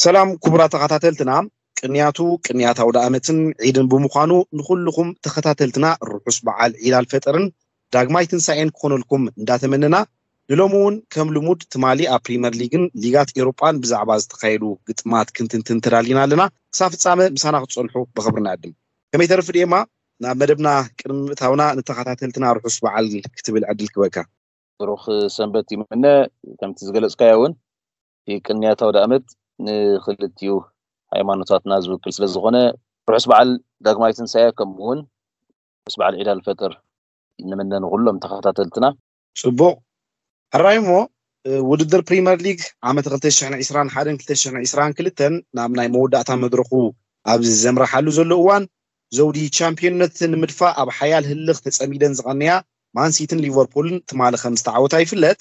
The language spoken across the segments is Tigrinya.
ሰላም ክቡራት ተኸታተልትና፣ ቅንያቱ ቅንያት ኣውደ ዓመትን ዒድን ብምዃኑ ንኹልኹም ተኸታተልትና ርሑስ በዓል ዒድ ኣልፈጥርን ዳግማይ ትንሳኤን ክኾነልኩም እንዳተመነና፣ ንሎሚ እውን ከም ልሙድ ትማሊ ኣብ ፕሪምየር ሊግን ሊጋት ኤውሮጳን ብዛዕባ ዝተኻየዱ ግጥማት ክንትንትን ተዳሊና ኣለና። ክሳብ ፍጻመ ምሳና ክትጸንሑ ብኽብሪ ንዕድም። ከመይ ተርፍ ድኤማ? ናብ መደብና ቅድሚ ምእታውና ንተኸታተልትና ርሑስ በዓል ክትብል ዕድል ክበካ። ብሩኽ ሰንበት ይምነ። ከምቲ ዝገለጽካዮ እውን እቲ ቅንያት ኣውደ ዓመት ንክልቲኡ ሃይማኖታትና ዝውክል ስለ ዝኾነ ርሑስ በዓል ዳግማይ ትንሳኤ ከምኡ እውን ርሑስ በዓል ዒድ ኣልፈጥር ንምነ ንኹሎም ተኸታተልትና። ጽቡቕ። ሕራይ እሞ ውድድር ፕሪምየር ሊግ ዓመት ክልተ ሽሕን ዕስራን ሓደን ክልተ ሽሕን ዕስራን ክልተን ናብ ናይ መወዳእታ መድረኹ ኣብ ዘምርሓሉ ዘሎ እዋን፣ ዘውዲ ቻምፒዮንነት ንምድፋእ ኣብ ሓያል ህልኽ ተጸሚደን ዝቐንያ ማንሲትን ሊቨርፑልን ትማሊ ከም ዝተዓወታ ይፍለጥ።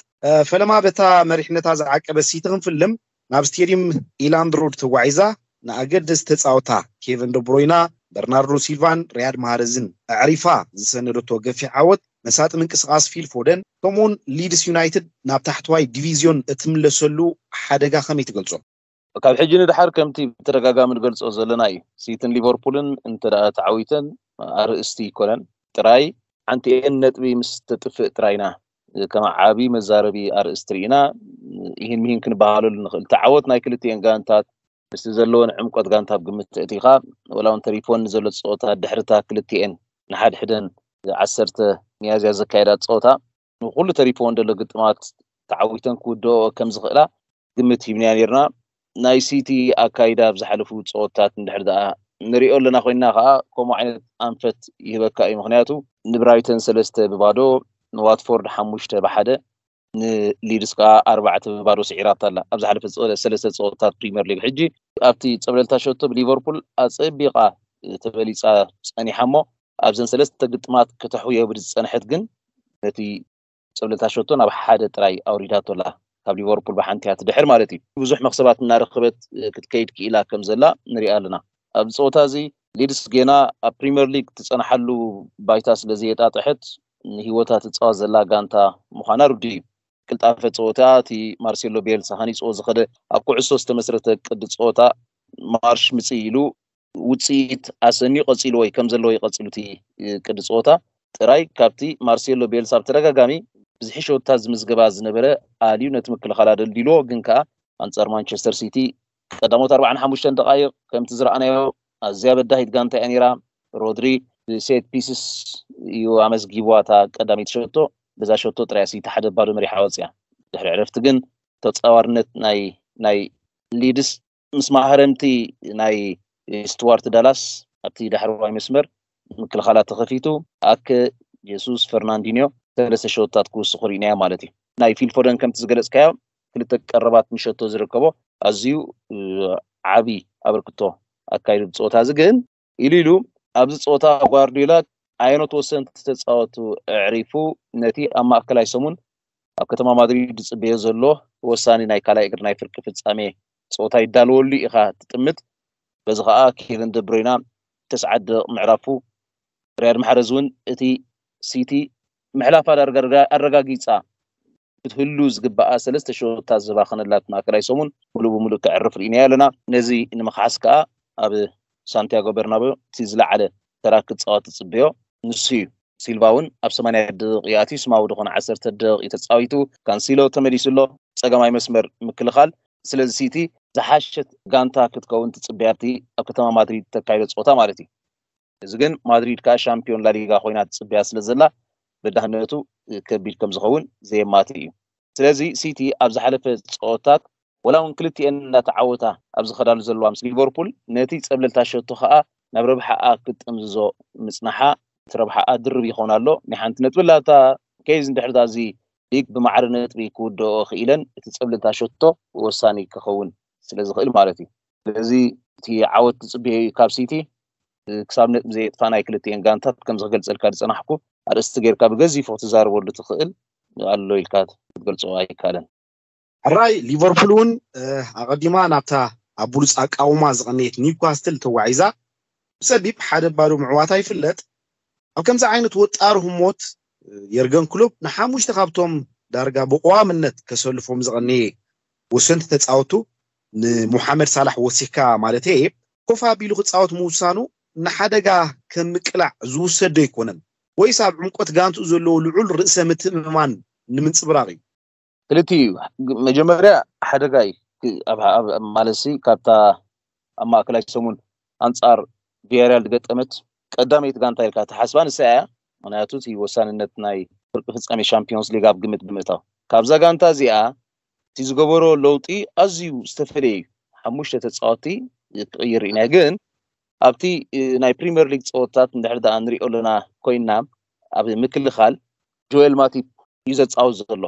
ፈለማ በታ መሪሕነታ ዝዓቀበት ሲቲ ክንፍልም ናብ ስቴድዩም ኢላንድ ሮድ ተጓዒዛ ንኣገደስቲ ተጻወታ ኬቨን ደብሮይና፣ በርናርዶ ሲልቫን ሪያድ ማሃረዝን ኣዕሪፋ ዝሰነደቶ ገፊሕ ዓወት መሳጢ ምንቅስቃስ ፊል ፎደን ከምኡውን ሊድስ ዩናይትድ ናብ ታሕተዋይ ዲቪዝዮን እትምለሰሉ ሓደጋ ከመይ ትገልጾ? ካብ ሕጂ ንድሓር ከምቲ ብተደጋጋሚ ንገልጾ ዘለና እዩ። ሲትን ሊቨርፑልን እንተ ደኣ ተዓዊተን ኣርእስቲ ይኮነን ጥራይ ሓንቲ ኤን ነጥቢ ምስ ተጥፍእ ጥራይና ከም ዓቢ መዛረቢ ኣርእስቲ ርኢና ይህን ምሂን ክንበሃለሉ ንኽእል። ተዓወት ናይ ክልቲኤን ጋንታት ምስቲ ዘለወን ዕምቆት ጋንታ ኣብ ግምት ተእቲኻ ወላ እውን ተሪፎን ዘሎ ጸወታ ድሕርታ ክልቲኤን ንሓድሕደን ዓሰርተ ሚያዝያ ዘካየዳ ጸወታ ንኩሉ ተሪፎን ዘሎ ግጥማት ተዓዊተን ክውድኦ ከም ዝኽእላ ግምት ሂብናያ ነርና። ናይ ሲቲ ኣካይዳ ኣብ ዝሓለፉ ጸወታት እንድሕር ደኣ ንሪኦ ኣለና ኮይንና ከኣ ከምኡ ዓይነት ኣንፈት ይህበካ እዩ። ምኽንያቱ ንብራይተን ሰለስተ ብባዶ ንዋትፎርድ ሓሙሽተ ብሓደ ንሊድስ ከኣ ኣርባዕተ ብባዶ ስዒራታ ኣላ ኣብ ዝሓለፈ ሰለስተ ጸወታት ፕሪምየር ሊግ። ሕጂ ኣብቲ ጸብለልታ ሸቶ ብሊቨርፑል ኣጸቢቓ ተበሊጻ ጸኒሓ እሞ ኣብዘን ሰለስተ ግጥማት ከተሕውዮ ብዝጸንሐት ግን ነቲ ጸብለልታ ሸቶ ናብ ሓደ ጥራይ ኣውሪዳቶ ኣላ። ካብ ሊቨርፑል ብሓንቲ እያ ትድሕር ማለት እዩ። ብዙሕ መክሰባት እናረኸበት ክትከይድ ክኢላ ከም ዘላ ንሪኣ ኣለና። ኣብ ጸወታ እዚ ሊድስ ጌና ኣብ ፕሪምየር ሊግ ትጸንሓሉ ባይታ ስለ ዘየጣጥሐት ንህይወታ ትጻወት ዘላ ጋንታ ምዃና ርዱእ እዩ። ቅልጣፈ ጸወታ እቲ ማርሴሎ ቤልሳ ሃኒጽዎ ዝኸደ ኣብ ኩዕሶ ዝተመስረተ ቅዲ ጸወታ ማርሽ ምጽእ ኢሉ ውፅኢት ኣሰንዩ ቀፂሉ ወይ ከም ዘለዎ ይቀፅሉ እቲ ቅዲ ፀወታ ጥራይ ካብቲ ማርሴሎ ቤልሳ ብተደጋጋሚ ብዝሒ ሸወታት ዝምዝገባ ዝነበረ ኣልዩ ነቲ ምክልኻል ኣደልዲልዎ ግን ከዓ ኣንፃር ማንቸስተር ሲቲ ቀዳሞት ኣርባዓን ሓሙሽተን ደቃይቕ ከምቲ ዝረኣናዮ ኣዝያ በዳሂት ጋንታ እያ ነይራ። ሮድሪ ብሴት ፒስስ እዩ ኣመዝጊብዋ እታ ቀዳመይቲ ሸቶ። በዛ ሸቶ ጥራይ ሲቲ ሓደ ባዶ መሪሓ ወፅያ። ድሕሪ ዕረፍቲ ግን ተፃዋርነት ናይ ናይ ሊድስ ምስ ማህረምቲ ናይ ስቱዋርት ዳላስ ኣብቲ ዳሕረዋይ መስመር ምክልኻላ ተኸፊቱ ኣከ ጀሱስ ፈርናንዲኒዮ ሰለስተ ሸወታት ክውስኹ ርኢናዮ ማለት እዩ። ናይ ፊልፎደን ከምቲ ዝገለፅካዮ ክልተ ቀረባት ምሸቶ ዝርከቦ ኣዝዩ ዓብዪ ኣበርክቶ ኣካይዱ ብፀወታ እዚ ግን ኢሉ ኢሉ ኣብዚ ፀወታ ጓርዲዮላ ኣየኖት ወሰንቲ ተፃወቱ ኣዕሪፉ ነቲ ኣብ ማእከላይ ሰሙን ኣብ ከተማ ማድሪድ ዝፅበዮ ዘሎ ወሳኒ ናይ ካልኣይ እግሪ ናይ ፍርቂ ፍጻሜ ፀወታ ይዳለወሉ ኢኻ ትጥምት። በዚ ከዓ ኬቨን ደብሮይና ተስዓት ደቂቕ ምዕራፉ ሪያድ ማሕረዝ እውን እቲ ሲቲ ምሕላፋ ዳርጋ ኣረጋጊፃ ክትህሉ ዝግበኣ ሰለስተ ሸወታት ዝባኸነላት ማእከላይ ሰሙን ሙሉእ ብሙሉእ ከዕርፍ ርኢናዮ ኣለና። ነዚ ንምኽሓስ ከዓ ኣብ ሳንቲያጎ በርናቦ እቲ ዝለዓለ ተራ ክፃወት ትፅበዮ ንሱ እዩ። ሲልቫ እውን ኣብ ሰማንያ ደቂቕ ኣትዩ ስማዊ ዝኾነ ዓሰርተ ደቂቕ ተፃዊቱ ካንሲሎ ተመሊሱ ኣሎ ፀገማይ መስመር ምክልኻል። ስለዚ ሲቲ ዝሓሸት ጋንታ ክትከውን ትፅበያ ኣብቲ ኣብ ከተማ ማድሪድ ተካይዶ ፀወታ ማለት እዩ። እዚ ግን ማድሪድ ከዓ ሻምፒዮን ላሊጋ ኮይና ትፅበያ ስለ ዘላ በዳህነቱ ከቢድ ከም ዝኸውን ዘየማትእ እዩ። ስለዚ ሲቲ ኣብ ዝሓለፈ ፀወታት ወላ እውን ክልቲኤን እናተዓወታ ኣብ ዝኸዳሉ ዘለዋ ምስ ሊቨርፑል ነቲ ፀብለልታ ሸቶ ከዓ ናብ ረብሓኣ ክትጥምዝዞ ምፅናሓ እቲ ረብሓኣ ድርብ ይኸውን ኣሎ። ናይ ሓንቲ ነጥቢ ላታ ኬዝ እንድሕር እዚ ሊግ ብማዕረ ነጥቢ ክውድኦ ክኢለን እቲ ፀብለልታ ሸቶ ወሳኒ ክኸውን ስለ ዝኽእል ማለት እዩ። ስለዚ እቲ ዓወት ትፅበዮ እዩ ካብ ሲቲ ክሳብ ነጥቢ ዘየጥፋ ናይ ክልቲኤን ጋንታት ከምዚ ክገልፀልካ ዝፀናሕኩ ኣርእስቲ ጌርካ ብገዚፎ ክትዛረበሉ ትኽእል ኣሎ ኢልካ ክትገልፆ ኣይካለን። ሕራይ ሊቨርፑል እውን ኣቐዲማ ናብታ ኣብ ብሉፅ ኣቃውማ ዝቐነየት ኒውካስትል ተዋዒዛ ብፀቢብ ሓደ ባዶ ምዕዋታ ይፍለጥ። ኣብ ከምዚ ዓይነት ወጣር ህሞት የርገን ክሎፕ ንሓሙሽተ ካብቶም ዳርጋ ብቀዋምነት ከሰልፎም ዝቐነየ ወሰንቲ ተፃወቱ ንሙሓመድ ሳላሕ ወሲኽካ ማለት እየ፣ ኮፍ ኣቢሉ ክፃወት ምውሳኑ ንሓደጋ ከም ምቅላዕ ዝውሰድ ዶ ኣይኮነን? ወይስ ኣብ ዕምቆት ጋንትኡ ዘለዎ ልዑል ርእሰ ምትእምማን ንምንፅብራቕ እዩ? ክልቲኡ እዩ። መጀመርያ ሓደጋ እዩ። ማለትሲ ካብታ ኣብ ማእከላይ ሰሙን ኣንጻር ቪያሪያል ዝገጠመት ቀዳመይቲ ጋንታ ኢልካ ትሓስባ ንሳ እያ። ምክንያቱ እቲ ወሳንነት ናይ ፍርቂ ፍጻሜ ሻምፒዮንስ ሊግ ኣብ ግምት ብምእታው፣ ካብዛ ጋንታ እዚኣ እቲ ዝገበሮ ለውጢ ኣዝዩ ዝተፈለየ እዩ። ሓሙሽተ ተጻወትቲ ክቕይር ኢና፣ ግን ኣብቲ ናይ ፕሪምየር ሊግ ጸወታት እንድሕር ደኣ ንሪኦ ኣለና ኮይና፣ ኣብ ምክልኻል ጆኤል ማቲፕ እዩ ዘጻወት ዘሎ።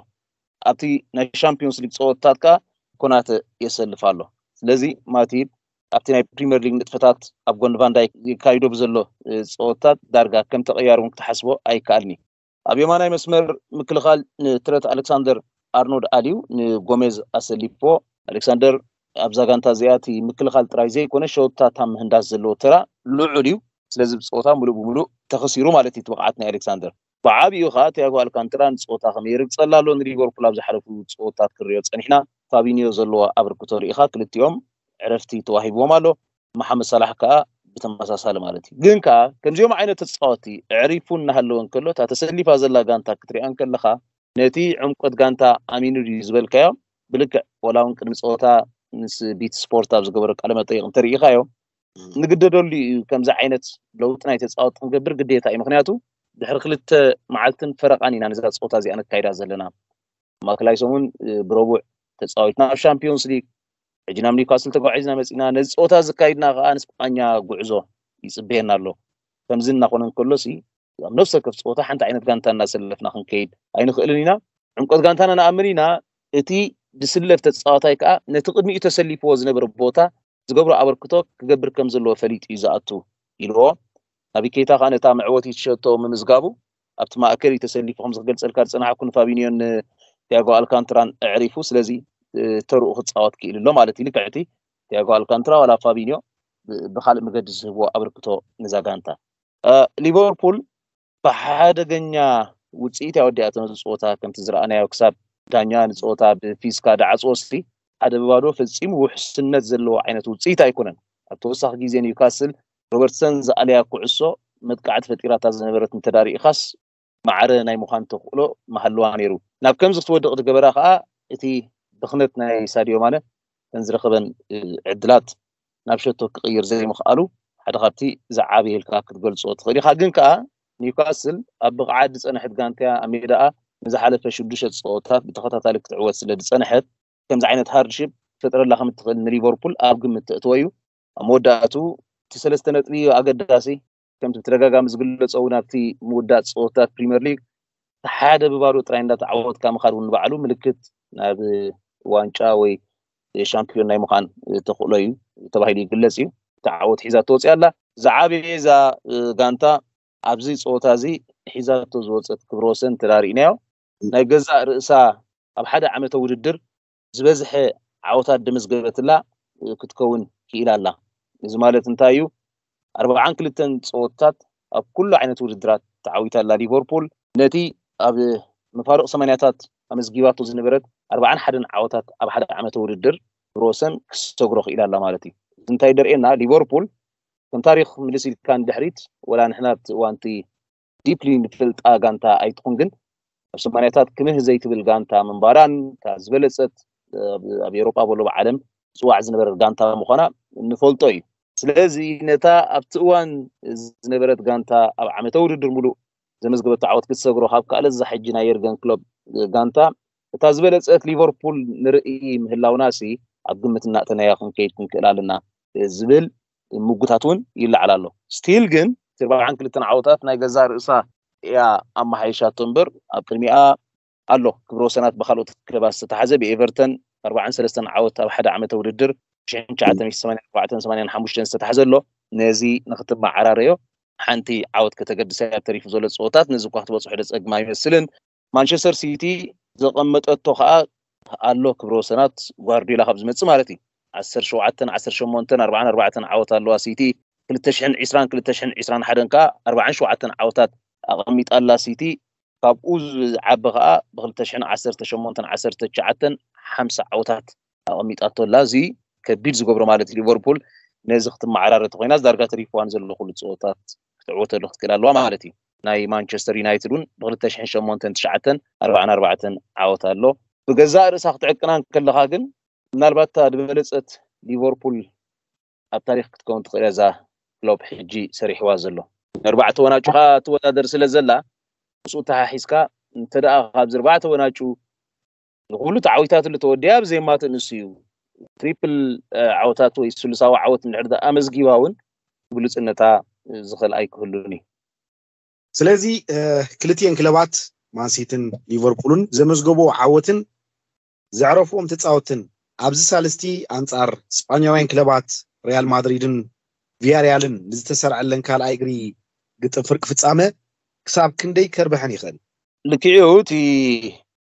ኣብቲ ናይ ሻምፒዮንስ ሊግ ጸወታት ከኣ ኮናተ የሰልፍ ኣሎ። ስለዚ ማቲፕ ኣብቲ ናይ ፕሪምየር ሊግ ንጥፈታት ኣብ ጎኒ ቫንዳይክ የካይዶ ብዘሎ ጸወታት ዳርጋ ከም ተቐያሪ እውን ክትሓስቦ ኣይከኣልኒ። ኣብ የማናይ መስመር ምክልኻል ንትረት ኣሌክሳንደር ኣርኖልድ ኣልዩ ንጎሜዝ ኣሰሊፎ። ኣሌክሳንደር ኣብዛ ጋንታ እዚኣ እቲ ምክልኻል ጥራይ ዘይኮነ ሸወታታ ምህንዳስ ዘለዎ ተራ ልዑል እዩ። ስለዚ ብፀወታ ሙሉእ ብሙሉእ ተኸሲሩ ማለት እዩ እቲ ብቕዓት ናይ ኣሌክሳንደር። ብዓብኡ ከዓ ቲያጎ ኣልካንትራ ንፀወታ ከመይ ይርግፀላ ኣሎ። ንሊቨርፑል ኣብ ዝሓለፉ ፀወታት ክንሪኦ ፀኒሕና ፋቢኒዮ ዘለዎ ኣበርክቶ ርኢኻ ክልቲኦም ዕረፍቲ ተዋሂብዎም ኣሎ። መሓመድ ሳላሕ ከዓ ብተመሳሳሊ ማለት እዩ። ግን ከዓ ከምዚኦም ዓይነት ተፃወቲ ዕሪፉ እናሃለወ እንከሎ እታ ተሰሊፋ ዘላ ጋንታ ክትሪኣ እንከለካ ነቲ ዕምቆት ጋንታ ኣሚኑ ድዩ ዝበልካዮ ብልክዕ ወላ እውን ቅድሚ ፀወታ ምስ ቢት ስፖርት ኣብ ዝገበረ ቃለ መጠይቕ እንተርኢኻዮ ንግደደሉ እዩ። ከምዚ ዓይነት ለውጢ ናይ ተፃወቲ ክንገብር ግዴታ እዩ። ምክንያቱ ድሕሪ ክልተ መዓልትን ፈረቓን ኢና ነዛ ፀወታ እዚኣ ነካይዳ ዘለና። ማእከላይ ሰሙን ብረቡዕ ተፃዊትና ኣብ ሻምፒዮንስ ሊግ ሕጂ ናብ ኒውካስል ተጓዒዝና መፂና። ነዚ ፀወታ ዝካይድና ከዓ ንስጳኛ ጉዕዞ ይፅበየና ኣሎ። ከምዚ እናኾነ እንከሎ ሲ ኣብ ነፍሲ ወከፍ ፀወታ ሓንቲ ዓይነት ጋንታ እናሰለፍና ክንከይድ ኣይንኽእልን ኢና። ዕምቆት ጋንታና ንኣምን ኢና። እቲ ዝስለፍ ተፃዋታይ ከዓ ነቲ ቅድሚኡ ተሰሊፍዎ ዝነበረ ቦታ ዝገብሮ ኣበርክቶ ክገብር ከም ዘለዎ ፈሊጡ እዩ ዝኣቱ ኢልዎ። ናቢ ኬታ ከዓ ነታ መዕወቲት ሸቶ ምምዝጋቡ ኣብቲ ማእከል እዩ ተሰሊፉ። ከምዚ ክገልፀልካ ዝፀናሕኩ ንፋቢኒዮን ንቲያጎ ኣልካንትራን ኣዕሪፉ። ስለዚ ተርኡ ክፃወት ክኢል ኣሎ ማለት እዩ። ልክዕቲ ቲያጎ ኣልካንትራ ዋላ ፋቢኒዮ ብካልእ መገዲ ዝህብዎ ኣበርክቶ ነዛ ጋንታ ሊቨርፑል ብሓደገኛ ውፅኢት እያ ወዲኣቶ ነዚ ፀወታ። ከምቲ ዝረኣናዮ ክሳብ ዳኛ ንፀወታ ብፊስካ ዳዓፅዎ ሲ ሓደ ብባዶ ፈፂሙ ውሕስነት ዘለዎ ዓይነት ውፅኢት ኣይኮነን። ኣብ ተወሳኺ ግዜ ኒውካስል ሮበርትሰን ዝኣለያ ኩዕሶ መጥቃዕቲ ፈጢራታ ዝነበረት እንተዳሪኢኻስ ማዕረ ናይ ምዃን ተኽእሎ መሃልዋ ነይሩ። ናብ ከምዚ ክትወድቕ ዝገበራ ከዓ እቲ ብኽነት ናይ ሳድዮ ማነ ተን ዝረኸበን ዕድላት ናብ ሸቶ ክቕይር ዘይምኽኣሉ ሓደ ካብቲ ዝዓበየ ኢልካ ክትገልጾ ትኽእል ኢኻ። ግን ከኣ ኒውካስል ኣብ ብቕዓት ዝጸንሐት ጋንታ እያ። ኣብ ሜዳኣ ንዝሓለፈ ሽዱሽተ ጸወታት ብተኸታታሊ ክትዕወት ስለ ዝጸንሐት ከምዚ ዓይነት ሃርድሺፕ ክፈጥረላ ከም እትኽእል ንሊቨርፑል ኣብ ግምት ተእትዎ እዩ። ኣብ መወዳእቱ እቲ ሰለስተ ነጥቢ ኣገዳሲ ከምቲ ብተደጋጋሚ ዝግለጾ እውን ኣብቲ ምውዳእ ጸወታት ፕሪምየር ሊግ ሓደ ብባዶ ጥራይ እንዳተዓወትካ ምኻድ እውን ንባዕሉ ምልክት ናብ ዋንጫ ወይ ሻምፒዮን ናይ ምዃን ተኽእሎ እዩ ተባሂሉ ይግለጽ እዩ። እቲ ዓወት ሒዛ ትወፅእ ኣላ። ዝዓበየ እዛ ጋንታ ኣብዚ ፀወታ እዚ ሒዛቶ ዝወፀት ክብረ ወሰን ተዳሪእናዮ ናይ ገዛእ ርእሳ ኣብ ሓደ ዓመተ ውድድር ዝበዝሐ ዓወታት ደመዝገበትላ ክትከውን ክኢላ ኣላ። እዚ ማለት እንታይ እዩ? ኣርባዓን ክልተን ፀወታት ኣብ ኩሉ ዓይነት ውድድራት ተዓዊታ ኣላ ሊቨርፑል። ነቲ ኣብ መፋርቕ ሰማንያታት ኣመዝጊባቶ ዝነበረት ኣርባዓን ሓደን ዓወታት ኣብ ሓደ ዓመተ ውድድር ብሮሰን ክሰግሮ ክኢላ ኣላ ማለት እዩ። እዚ እንታይ ደርእየና? ሊቨርፑል ከም ታሪኽ ምልስ ኢልካ ንድሕሪት ወላ ንሕና ኣብቲ እዋንቲ ዲፕሊ ንፈልጣ ጋንታ ኣይትኹን፣ ግን ኣብ ሰማንያታት ክምህ ዘይትብል ጋንታ ምንባራን እታ ዝበለጸት ኣብ ኤሮጳ በሎ ብዓለም ዝዋዕ ዝነበረት ጋንታ ምዃና ንፈልጦ እዩ። ስለዚ ነታ ኣብቲ እዋን ዝነበረት ጋንታ ኣብ ዓመተ ውድድር ሙሉእ ዘመዝገበቶ ዓወት ክትሰግሮ ካብ ከኣለት እዛ ሕጂ ናይ የርገን ክሎፕ ጋንታ እታ ዝበለጸት ሊቨርፑል ንርኢ ምህላውና ሲ ኣብ ግምት እናእተናያ ክንከይድ ክንክእል ኣለና ዝብል ምጉታት እውን ይለዓል ኣሎ። ስቲል ግን እቲ ኣርባዓን ክልተን ዓወታት ናይ ገዛ ርእሳ እያ ኣመሓይሻቶ እምበር ኣብ ቅድሚኣ ኣሎ ክብረ ወሰናት ብካልኦት ክለባት ዝተታሓዘ ብኤቨርተን ኣርባዓን ሰለስተን ዓወት ኣብ ሓደ ዓመተ ውድድር ሽሕን ትሽዓተ ሚእቲ ሰማንያን ኣርባዕተን ሰማንያን ሓሙሽተን ዝተታሓዘ ኣሎ። ነዚ ንክትመዓራረዮ ሓንቲ ዓወት ከተገድሳ እያ ተሪፉ ዘሎ ፀወታት። ነዚ እኳ ክትበፅሖ ደፀግም ኣይመስልን። ማንቸስተር ሲቲ ዘቐመጠቶ ከዓ ኣሎ ክብረ ወሰናት ጓርዲዮላ ካብ ዝመፅእ ማለት እዩ። ዓሰርተ ሸውዓተን ዓሰርተ ሸሞንተን ኣርባዓን ኣርባዕተን ዓወት ኣለዋ ሲቲ። ክልተ ሽሕን ዕስራን ክልተ ሽሕን ዕስራን ሓደን ከዓ ኣርባዓን ሸውዓተን ዓወታት ኣቐሚጣ ኣላ ሲቲ። ካብኡ ዝዓቢ ከዓ ብክልተ ሽሕን ዓሰርተ ሸሞንተን ዓሰርተ ትሽዓተን ሓምሳ ዓወታት ኣቐሚጣቶ ኣላ። እዚ ከቢድ ዝገብሮ ማለት እዩ። ሊቨርፑል ነዚ ክትመዓራረ ተኮይና ዳርጋ ተሪፍዋ ንዘሎ ኩሉ ፀወታት ክትዕወተሉ ክትክእል ኣለዋ ማለት እዩ። ናይ ማንቸስተር ዩናይትድ እውን ብ2008 9 ኣርባዓን ኣርባዕተን ዓወት ኣሎ። ብገዛእ ርእሳ ክትዕቅና ከለካ ግን ምናልባት እታ ዝበለፀት ሊቨርፑል ኣብ ታሪክ ክትከውን ትኽእል እያ። እዛ ክሎፕ ሕጂ ሰሪሕዋ ዘሎ ኣርባዕተ ወናጩ ከኣ ትወዳደር ስለ ዘላ ምስኡ ተሓሒዝካ እንተ ደኣ ካብዚ ኣርባዕተ ወናጩ ንኩሉ ተዓዊታትሉ ተወዲያ ብዘይማት ንሱ እዩ። ትሪፕል ዓወታት ወይ ስሉሳዊ ዓወት እንድሕር ኣመዝጊባ እውን ብሉፅነታ ዝኽእል ኣይክህሉን እዩ። ስለዚ ክልቲኤን ክለባት ማንሲትን ሊቨርፑልን ዘመዝገቦ ዓወትን ዘዕረፍዎም ተፃወትን ኣብዚ ሳልስቲ ኣንፃር ስጳኛውያን ክለባት ሪያል ማድሪድን ቪያሪያልን ንዝተሰርዐለን ካልኣይ እግሪ ግጥም ፍርቂ ፍፃመ ክሳብ ክንደይ ከርብሐን ይኽእል? ልክዕኡ እቲ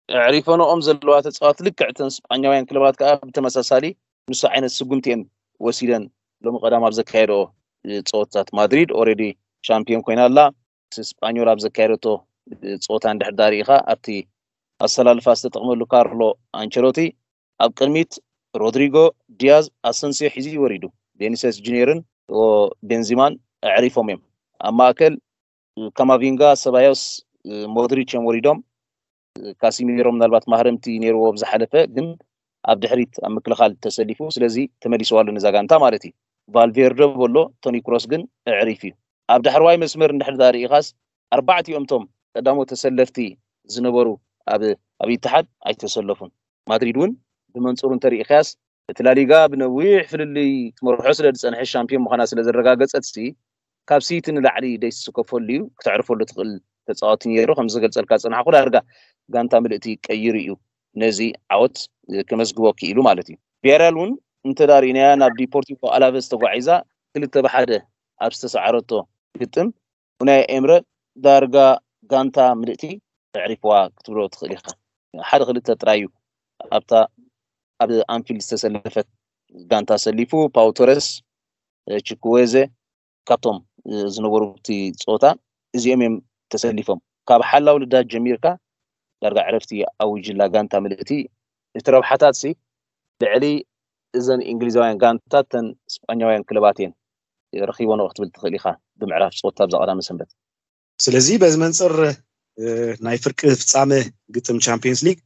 ኣዕሪፈንኦም ዘለዋ ተፃወት ልክዕ እተን ስጳኛውያን ክለባት ከዓ ብተመሳሳሊ ንሱ ዓይነት ስጉምቲ እየን ወሲደን። ሎሚ ቀዳም ኣብ ዘካየደኦ ፀወታት ማድሪድ ኦሬዲ ሻምፒዮን ኮይና ኣላ። ስጳኞል ኣብ ዘካየደቶ ፀወታ እንድሕር ዳርኢኻ ኣብቲ ኣሰላልፋ ዝተጠቕመሉ ካርሎ ኣንቸሎቲ ኣብ ቅድሚት ሮድሪጎ፣ ዲያዝ፣ ኣሰንሲዮ ሒዙ ወሪዱ። ቬኒሰስ ጁኒየርን ቤንዚማን ኣዕሪፎም እዮም። ኣብ ማእከል ካማቪንጋ፣ ሰባዮስ፣ ሞድሪች እዮም ወሪዶም። ካሲሚሮ ምናልባት ማህረምቲ ነይርዎ ብዝሓለፈ ግን ኣብ ድሕሪት ኣብ ምክልኻል ተሰሊፉ ስለዚ ተመሊስዋ ኣሎ ነዛ ጋንታ ማለት እዩ። ቫልቬርደ በሎ ቶኒ ክሮስ ግን ኣዕሪፍ እዩ። ኣብ ዳሕረዋይ መስመር እንድሕር ዳኣ ርኢኻስ ኣርባዕቲኦም ቶም ቀዳሞት ተሰለፍቲ ዝነበሩ ኣብ ኣብ ኢትሓድ ኣይተሰለፉን። ማድሪድ እውን ብመንፅሩ እንተርኢኻያስ እቲ ላሊጋ ብነዊሕ ፍልልይ ትመርሖ ስለ ዝፀንሐ ሻምፒዮን ምዃና ስለ ዘረጋገፀት ሲ ካብ ሲቲ ንላዕሊ ደይስከፈሉ እዩ። ክተዕርፈሉ ትኽእል ተፃዋቲ ነይሩ። ከም ዝገልፀልካ ዝፀናሕኩ ዳርጋ ጋንታ ምልእቲ ቀይሩ እዩ ነዚ ዓወት ከመዝግቦ ክኢሉ ማለት እዩ። ቪያሪያል እውን እንተዳሪእናያ ናብ ዲፖርቲቮ ኣላቨስ ተጓዒዛ ክልተ ብሓደ ኣብ ዝተሰዓረቶ ግጥም ኡናይ ኤምረ ዳርጋ ጋንታ ምልእቲ ኣዕሪፍዋ ክትብሎ ትኽእል ኢኻ። ሓደ ክልተ ጥራይ እዩ ኣብታ ኣብ ኣንፊልድ ዝተሰለፈት ጋንታ ሰሊፉ። ፓው ቶረስ፣ ችኩዌዘ ካብቶም ዝነበሩ እቲ ፀወታ እዚኦም እዮም ተሰሊፎም። ካብ ሓላው ልዳት ጀሚርካ ዳርጋ ዕረፍቲ ኣዊጅላ ጋንታ ምልእቲ። እቲ ረብሓታት ሲ ልዕሊ እዘን እንግሊዛውያን ጋንታታት ተን ስጳኛውያን ክለባት እየን ረኺቦንኦ ክትብል ትኽእል ኢኻ ብምዕራፍ ፀወታ ኣብዛ ቀዳመ ሰንበት። ስለዚ በዚ መንፅር ናይ ፍርቂ ፍፃመ ግጥም ቻምፒየንስ ሊግ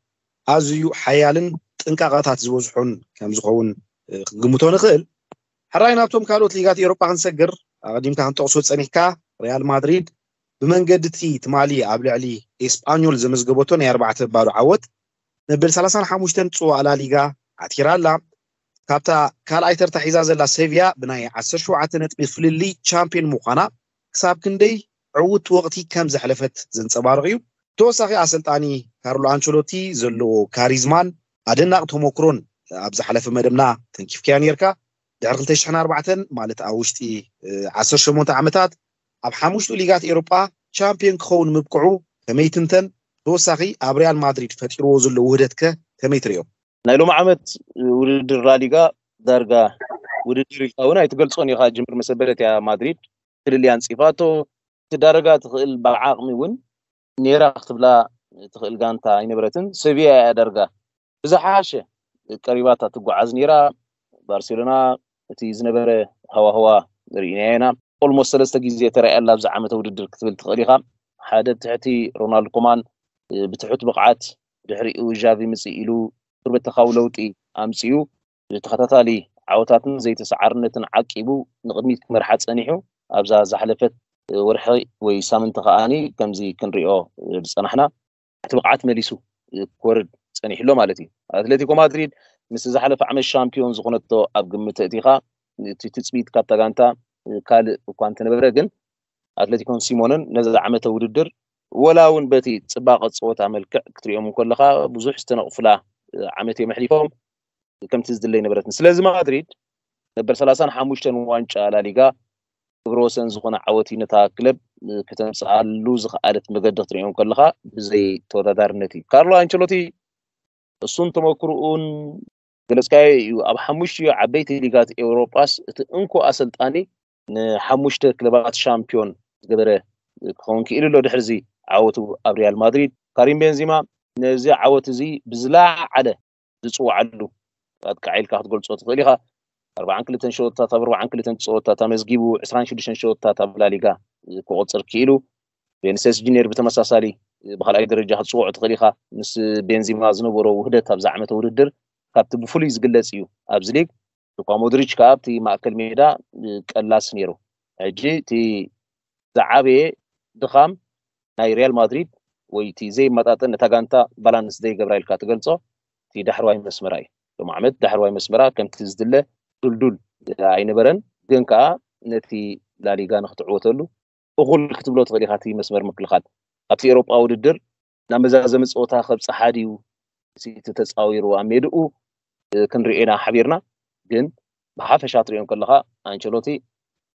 ኣዝዩ ሓያልን ጥንቃቐታት ዝበዝሖን ከም ዝኸውን ክንግምቶ ንኽእል። ሕራይ ናብቶም ካልኦት ሊጋት ኤውሮጳ ክንሰግር ኣቐዲምካ ክንጠቕሶ ዝፀኒሕካ ሪያል ማድሪድ ብመንገዲ እቲ ትማሊ ኣብ ልዕሊ ኤስጳኞል ዘመዝገበቶ ናይ ኣርባዕተ ባዶ ዓወት መበል ሰላሳን ሓሙሽተን ጽዋእ ላሊጋ ዓቲራ ኣላ። ካብታ ካልኣይ ተርታ ሒዛ ዘላ ሴቪያ ብናይ ዓሰርተ ሸውዓተ ነጥቢ ፍልልይ ቻምፒዮን ምዃና ክሳብ ክንደይ ዕውት ወቕቲ ከም ዘሕለፈት ዘንጸባርቕ እዩ። ተወሳኺ ኣሰልጣኒ ካርሎ ኣንቸሎቲ ዘለዎ ካሪዝማን ኣደናቕ ተመክሮን ኣብ ዝሓለፈ መደብና ተንኪፍካዮ ነርካ። ድሕሪ ክልተ ሽሕን ኣርባዕተን ማለት ኣብ ውሽጢ ዓሰርተ ሸሞንተ ዓመታት ኣብ ሓሙሽቱ ሊጋት ኤሮጳ ቻምፒዮን ክኸውን ምብቅዑ ከመይ ትንተን? ተወሳኺ ኣብ ሪያል ማድሪድ ፈጢርዎ ዘሎ ውህደት ከ ከመይ ትሪኦ? ናይ ሎሚ ዓመት ውድድር ላሊጋ ዳርጋ ውድድር ኢልካ እውን ኣይትገልፆን ኢኻ። ጅምር መሰበለት እያ ማድሪድ ፍልልይ ኣንፂፋቶ። ትዳረጋ ትኽእል ብዓቕሚ እውን ኔራ ክትብላ ትኽእል ጋንታ ኣይነበረትን። ሰቪያ እያ ዳርጋ ብዝሓሸ ቀሪባታ ትጓዓዝ ኔራ። ባርሴሎና እቲ ዝነበረ ሃዋህዋ ርኢናዮ ኢና። ኦልሞስት ሰለስተ ግዜ ተራእያ ኣላ ኣብዚ ዓመተ ውድድር ክትብል ትኽእል ኢኻ። ሓደ ትሕቲ ሮናልድ ኮማን ብትሑት ብቕዓት ድሕሪኡ ዣቪ ምፅእ ኢሉ ቱርበተኻዊ ለውጢ ኣምፅኡ ተኸታታሊ ዓወታትን ዘይተሰዓርነትን ዓቂቡ ንቕድሚት ክመርሓ ፀኒሑ ኣብዛ ዝሓለፈት ወርሒ ወይ ሳምንቲ ከዓኒ ከምዚ ክንሪኦ ዝፀናሕና እቲ ብቕዓት መሊሱ ክወርድ ፀኒሕሎ ማለት እዩ። ኣትሌቲኮ ማድሪድ ምስ ዝሓለፈ ዓመት ሻምፒዮን ዝኾነቶ ኣብ ግምት እቲኻ እቲ ትፅቢት ካብታ ጋንታ ካልእ እኳ እንተነበረ ግን ኣትሌቲኮን ሲሞንን ነዚ ዓመተ ውድድር ወላ እውን በቲ ፅባቐ ፀወታ መልክዕ ክትሪኦም እንከለኻ ብዙሕ ዝተነቕፉላ ዓመት እዮም ኣሕሊፎም። ከምቲ ዝድለ ኣይነበረትን። ስለዚ ማድሪድ ነበር ሰላሳን ሓሙሽተን ዋንጫ ላሊጋ ክብረ ወሰን ዝኾነ ዓወት እዩ ነታ ክለብ ከተምፅኣሉ ዝኸኣለት መገዲ ክትሪኦም ከለኻ ብዘይ ተወዳዳርነት እዩ። ካርሎ ኣንቸሎቲ እሱን ተመክርኡን ገለፅካዮ እዩ። ኣብ ሓሙሽቲኡ ዓበይቲ ሊጋት ኤውሮጳስ እቲ እንኮ ኣሰልጣኒ ንሓሙሽተ ክለባት ሻምፒዮን ዝገበረ ክኸውን ክኢሉ ኣሎ። ድሕርዚ ዓወቱ ኣብ ሪያል ማድሪድ ካሪም ቤንዚማ ነዚ ዓወት እዚ ብዝለዓለ ዝፅውዓሉ ኣጥቃዒ ኢልካ ክትገልፆ ትኽእል ኢኻ። ኣርባዓን ክልተን ሸወታት ኣብ ኣርባዓን ክልተን ፀወታት ኣመዝጊቡ ዕስራን ሽዱሽተን ሸወታት ኣብ ላሊጋ ክቆፅር ክኢሉ። ቬኒሲየስ ጁኒየር ብተመሳሳሊ ብካልኣይ ደረጃ ክትፅውዖ ትኽእል ኢኻ። ምስ ቤንዚማ ዝነበሮ ውህደት ኣብዛ ዓመተ ውድድር ካብቲ ብፍሉይ ዝግለፅ እዩ ኣብዚ ሊግ። ሉካ ሞድሪች ከዓ ኣብቲ ማእከል ሜዳ ቀላስ ነይሩ። ሕጂ እቲ ዝዓበየ ድኻም ናይ ሪያል ማድሪድ ወይ እቲ ዘይመጣጠን ነታ ጋንታ ባላንስ ዘይገብራ ኢልካ ትገልጾ እቲ ዳሕረዋይ መስመራ እዩ። ሎም ዓመት ዳሕረዋይ መስመራ ከምቲ ዝድለ ዱልዱል ኣይነበረን፣ ግን ከዓ ነቲ ላሊጋ ንክትዕወተሉ እኹል ክትብሎ ትኽእል ኢኻ። እቲ መስመር ምክልኻል ኣብቲ ኤሮጳ ውድድር ናብ መዛዘሚ ፀወታ ከብፅሓ ድዩ እቲ ተፃዊሩ ኣብ ሜድኡ ክንርኢ ኢና ሓቢርና። ግን ብሓፈሻ ትሪኦ ከለኻ ኣንቸሎቲ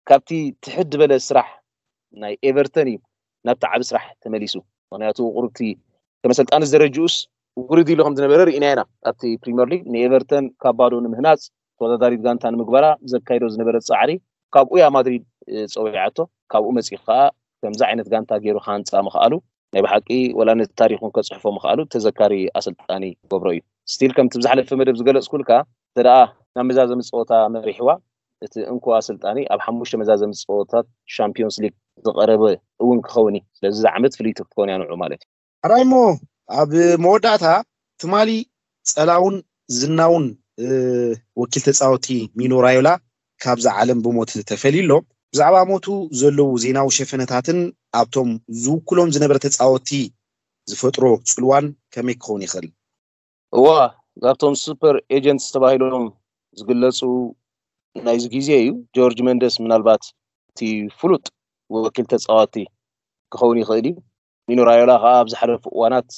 ካብቲ ትሕት ዝበለ ስራሕ ናይ ኤቨርተን እዩ ናብቲ ዓቢ ስራሕ ተመሊሱ። ምክንያቱ ቁሩብቲ ከመሰልጣኒ ደረጅኡስ ውርድ ኢሉ ከም ዝነበረ ርኢና ኢና። ኣብቲ ፕሪምየር ሊግ ንኤቨርተን ካብ ባዶ ንምህናፅ ተወዳዳሪት ጋንታ ንምግባራ ዘካይዶ ዝነበረ ፃዕሪ ካብኡ እያ ማድሪድ ፀዊዓቶ። ካብኡ መፂኡ ከዓ ከምዚ ዓይነት ጋንታ ገይሩ ክሃንፃ ምኽኣሉ ናይ ብሓቂ ወላ ነቲ ታሪክ እውን ከፅሕፎ ምኽኣሉ ተዘካሪ ኣሰልጣኒ ገብሮ እዩ። ስቲል ከምቲ ብዝሓለፈ መደብ ዝገለፅኩልካ እንተ ደኣ ናብ መዛዘሚ ፀወታ መሪሕዋ እቲ እንኮ ኣሰልጣኒ ኣብ ሓሙሽተ መዛዘሚ ፀወታት ሻምፒዮንስ ሊግ ዝቐረበ እውን ክኸውን እዩ። ስለዚ እዛ ዓመት ፍልይቲ ክትከውን እያ ንዑ ማለት እዩ። ሕራይ እሞ ኣብ መወዳእታ ትማሊ ጸላውን ዝናውን ወኪል ተጻወቲ ሚኖ ራዮላ ካብዛ ዓለም ብሞት ተፈልዩ ኣሎ። ብዛዕባ ሞቱ ዘለዉ ዜናዊ ሸፈነታትን ኣብቶም ዝውክሎም ዝነበረ ተጻወቲ ዝፈጥሮ ጽልዋን ከመይ ክኸውን ይኽእል? እዋ ካብቶም ሱፐር ኤጀንትስ ተባሂሎም ዝግለፁ ናይዚ ግዜ እዩ። ጆርጅ መንደስ ምናልባት እቲ ፍሉጥ ወኪል ተፃወቲ ክኸውን ይኽእል እዩ። ሚኖ ራዮላ ከዓ ኣብ ዝሓለፉ እዋናት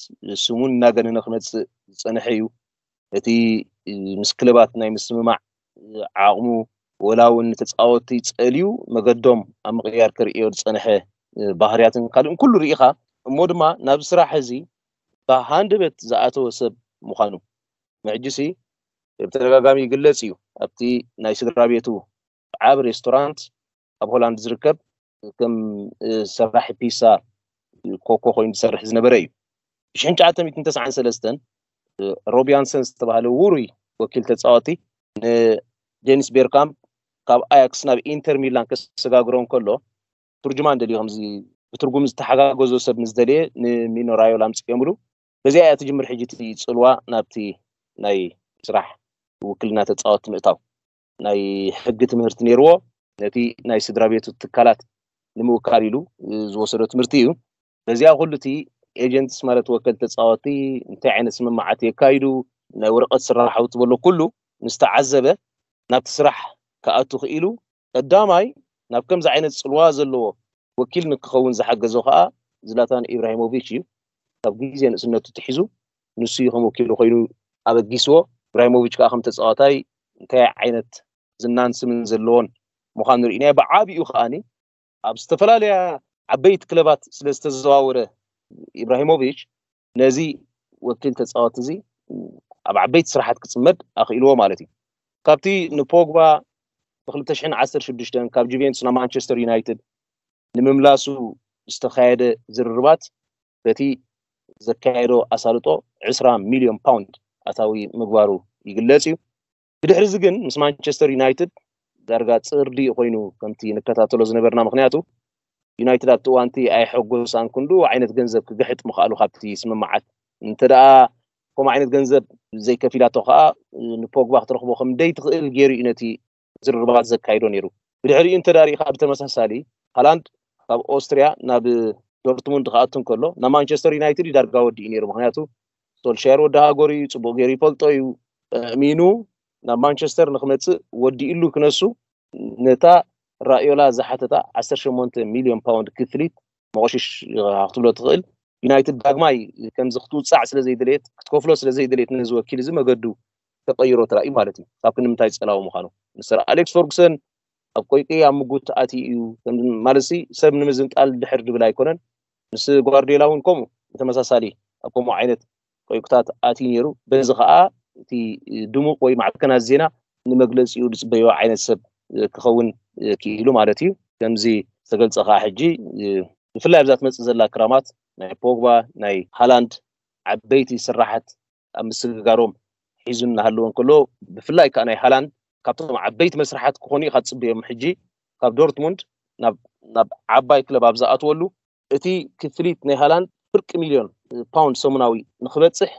ስሙ እናገነነ ክመፅእ ዝፀንሐ እዩ። እቲ ምስ ክለባት ናይ ምስምማዕ ዓቕሙ ወላ እውን ንተፃወቲ ፀልዩ መገዶም ኣብ ምቕያር ክርእዮ ዝፀንሐ ባህርያትን ካልእን ኩሉ ርኢኻ እሞ ድማ ናብ ስራሕ እዚ ብሃንደበት ዝኣተወ ሰብ ምዃኑ ምሕጅሲ ብተደጋጋሚ ይግለጽ እዩ። ኣብቲ ናይ ስድራ ቤቱ ዓብ ሬስቶራንት ኣብ ሆላንድ ዝርከብ ከም ሰራሕ ፒሳ ኮኮ ኮይኑ ዝሰርሕ ዝነበረ እዩ። ብሽሕን ትሽዓተ ሚእትን ተስዓን ሰለስተን ሮቢ ሃንሰን ዝተባህለ ውሩይ ወኪል ተጻወቲ ንዴኒስ ቤርካምፕ ካብ ኣያክስ ናብ ኢንተር ሚላን ከሰጋግሮ እንከሎ ትርጅማን ደልዩ ከምዚ ብትርጉም ዝተሓጋገዞ ሰብ ምስ ደልየ ንሚኖ ራዮላ ኣምፅኦምሉ። በዚኣ እያ ትጅምር ሕጂ እቲ ፅልዋ ናብቲ ናይ ስራሕ ውክልና ተፃወቲ ምእታው ናይ ሕጊ ትምህርቲ ነይርዎ ነቲ ናይ ስድራ ቤቱ ትካላት ንምውካል ኢሉ ዝወሰዶ ትምህርቲ እዩ። በዚኣ ኩሉ እቲ ኤጀንትስ ማለት ወከል ተፃወቲ እንታይ ዓይነት ስምምዓት የካይዱ ናይ ወረቀት ስራሓዊ ትበሎ ኩሉ ምስ ተዓዘበ ናብቲ ስራሕ ክኣቱ ክኢሉ ቀዳማይ ናብ ከምዚ ዓይነት ፅልዋ ዘለዎ ወኪል ንክኸውን ዝሓገዞ ከዓ ዝላታን ኢብራሂሞቪች እዩ። ካብ ግዜ ንእስነቱ ትሒዙ ንሱ እዩ ከም ወኪሉ ኮይኑ ኣበጊስዎ። ኢብራሂሞቪች ከዓ ከም ተፃዋታይ እንታይ ዓይነት ዝናን ስምን ዘለዎን ምዃኑ ርኢናዮ። ብዓብኡ ከዓኒ ኣብ ዝተፈላለያ ዓበይቲ ክለባት ስለ ዝተዘዋወረ ኢብራሂሞቪች ነዚ ወኪል ተፃወቲ እዚ ኣብ ዓበይቲ ስራሓት ክፅመድ ኣኽኢልዎ ማለት እዩ። ካብቲ ንፖግባ ብ ክልተ ሽሕን ዓሰርተ ሽዱሽተን ካብ ጁቬንቱስ ናብ ማንቸስተር ዩናይትድ ንምምላሱ ዝተኻየደ ዝርርባት በቲ ዘካየዶ ኣሳልጦ ዕስራ ሚልዮን ፓውንድ ኣታዊ ምግባሩ ይግለጽ እዩ። ብድሕሪ እዚ ግን ምስ ማንቸስተር ዩናይትድ ዳርጋ ጽርዲ ኮይኑ ከምቲ ንከታተሎ ዝነበርና ምክንያቱ ዩናይትድ ኣብቲ እዋንቲ ኣይሐጎሳን ክንዱ ዓይነት ገንዘብ ክግሕጥ ምኽኣሉ ካብቲ ስምምዓት እንተ ደኣ ከምኡ ዓይነት ገንዘብ ዘይከፊላቶ ከዓ ንፖግባ ክትረኽቦ ከም ደይትኽእል ገይሩ እዩ ነቲ ዝርርባት ዘካይዶ ነይሩ። ብድሕሪኡ እንተ ዳሪእካ ብተመሳሳሊ ሃላንድ ካብ ኦስትሪያ ናብ ዶርትሙንድ ክኣቱ እንከሎ ናብ ማንቸስተር ዩናይትድ እዩ ዳርጋ ወዲኡ ነይሩ። ምክንያቱ ሶልሻየር ወዲ ሃገሩ እዩ፣ ፅቡቅ ገይሩ ይፈልጦ እዩ። እሚኑ ናብ ማንቸስተር ንክመፅእ ወዲእሉ ክነሱ ነታ ራዮላ ዝሓተታ ዓሰርተ ሸሞንተ ሚልዮን ፓውንድ ክፍሊት መቆሽሽ ክትብሎ ትኽእል። ዩናይትድ ዳግማይ ከምዚ ክትውፃዕ ስለ ዘይደለየት ክትከፍሎ ስለ ዘይደለየት ነዚ ወኪል እዚ መገዱ ተቀይሮ ተራእዩ ማለት እዩ። ካብ ክንምንታይ ፀላዊ ምዃኑ ንሰር ኣሌክስ ፈርጉሰን ኣብ ቆይቂ ኣብ ምጉት ኣትዩ እዩ ማለት ሰብ ንምዝንጣል ድሕር ድብል ኣይኮነን። ምስ ጓርዲዮላ እውን ከምኡ ብተመሳሳሊ ኣብ ከምኡ ዓይነት ቆይቁታት ኣትዩ ነይሩ። በዚ ከዓ እቲ ድሙቅ ወይ ማዕከናት ዜና ንመግለፂኡ ዝፅበዮ ዓይነት ሰብ ክኸውን ክኢሉ ማለት እዩ። ከምዚ ዝተገልፀ ከዓ ሕጂ ብፍላይ ኣብዛ ትመፅእ ዘላ ክራማት ናይ ፖግባ ናይ ሃላንድ ዓበይቲ ስራሓት ኣብ ምስግጋሮም ሒዙ እናሃለወ እንከሎ ብፍላይ ከዓ ናይ ሃላንድ ካብቶም ዓበይቲ መስርሓት ክኾኑ ኢኻ ትፅበዮም። ሕጂ ካብ ዶርትሙንድ ናብ ናብ ዓባይ ክለብ ኣብ ዝኣትወሉ እቲ ክፍሊት ናይ ሃላንድ ፍርቂ ሚልዮን ፓውንድ ሰሙናዊ ንክበፅሕ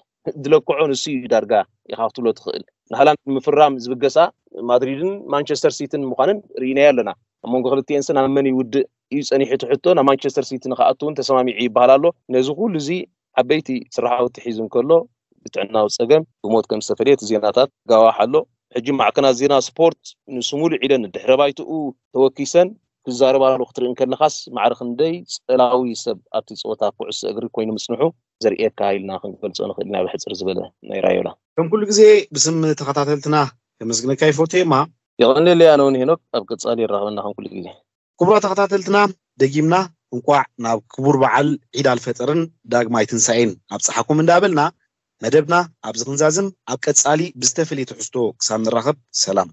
ዝለክዖ ንሱ እዩ። ዳርጋ ኢኻ ክትብሎ ትኽእል። ንሃላንድ ንምፍራም ዝብገሳ ማድሪድን ማንቸስተር ሲቲን ምዃንን ርኢናዮ ኣለና። ኣብ መንጎ ክልቲኤን ስን ኣብ መን ይውድእ እዩ ጸኒሑ ትሕቶ ናብ ማንቸስተር ሲቲ ንክኣቱ እውን ተሰማሚዑ ይበሃል ኣሎ። ነዚ ኩሉ እዚ ዓበይቲ ስራሕቲ ሒዙ እንከሎ ብጥዕናዊ ጸገም ብሞት ከም ዝተፈለየ እቲ ዜናታት ጋዋሕ ኣሎ። ሕጂ ማዕከናት ዜና ስፖርት ንሱ ሙሉእ ኢለን ድሕረ ባይትኡ ተወኪሰን ክዛረባሉ ክትርኢ እንከለኻስ ማዕረ ክንደይ ጸላዊ ሰብ ኣብቲ ጸወታ ኩዕሶ እግሪ ኮይኑ ምጽንሑ ዘርእየካ ኢልና ክንገልጾ ንኽእል ኢና። ብሕጽር ዝበለ ናይ ራዮላ ከም ኩሉ ግዜ ብስም ተኸታተልትና ከመስግነካ ይፈቱ። የማ የቐንየለይ። ኣነ እውን ሄኖክ ኣብ ቀጻሊ የራኽበና ከም ኩሉ ግዜ። ክቡራት ተኸታተልትና ደጊምና እንቋዕ ናብ ክቡር በዓል ዒድ ኣልፈጥርን ዳግማይ ትንሳኤን ኣብጽሓኩም እንዳበልና መደብና ኣብዚ ክንዛዝም ኣብ ቀጻሊ ብዝተፈለየ ትሕዝቶ ክሳብ ንራኸብ ሰላም።